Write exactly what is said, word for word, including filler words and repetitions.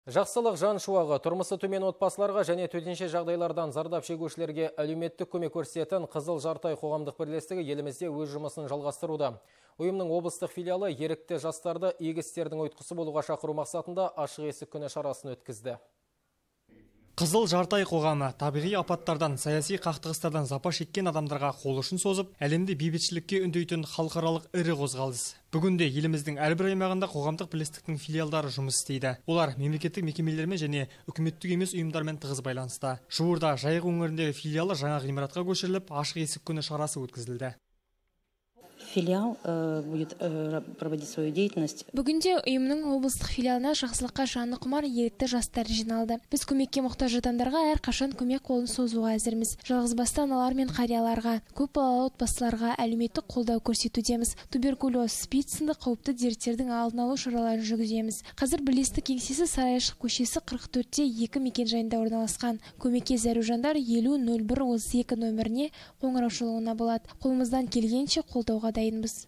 Жақсылық жан шуағы тұрмысы төмен отбасыларға және төтенше жағдайлардан зардап шегушілерге әлеуметтік көмек көрсететін Қызыл Жарты ай қоғамдық бірлестігі елімізде өз жұмысын жалғастыруда. Ұйымның облыстық филиалы ерікті жастарды игі істердің ұйытқысы болуға шақыру мақсатында ашық есік күні шарасын өткізді. Қызыл Жарты ай қоғамы табиғи апаттардан, саяси қақтығыстардан запа шеккен адамдарға қол ұшын созып, әлемде бейбітшілікке үндейтін халықаралық ірі қозғалыс. Бүгінде еліміздің әрбір аймағында қоғамдық бірлестіктің филиалдары жұмыс істейді. Олар мемлекеттік мекемелермен және үкіметтік емес ұйымдармен тығыз байланыста. Жуырда Жайық өңіріндегі филиалы жаңа ғимаратқа көшіріліп, ашық есік күні шарасы өткізілді. Филиал э, будет э, проводить свою деятельность. Бүгінде ұйымның облыстық филиалына жақсылыққа жаны құмар ерікті жастар жиналды. Біз көмекке мұқтаж адамдарға әрқашан көмек қолын созуға әзірміз. Жалғызбасты аналар мен қарияларға, көп балалы отбасыларға әлеуметтік қолдау көрсетудеміз. Туберкулез, СПИД сынды қауіпті дерттердің алдын алу шараларын жүргіземіз. Қазір бірлестік кеңсесі Сарайшық көшесі қырық төртте екі мекенжайында орналасқан. Көмекке зәру жандар елу нөл бір отыз екі нөміріне қоңырау шалуына болады. Қолымыздан келгенше қолдауға дайынбыз.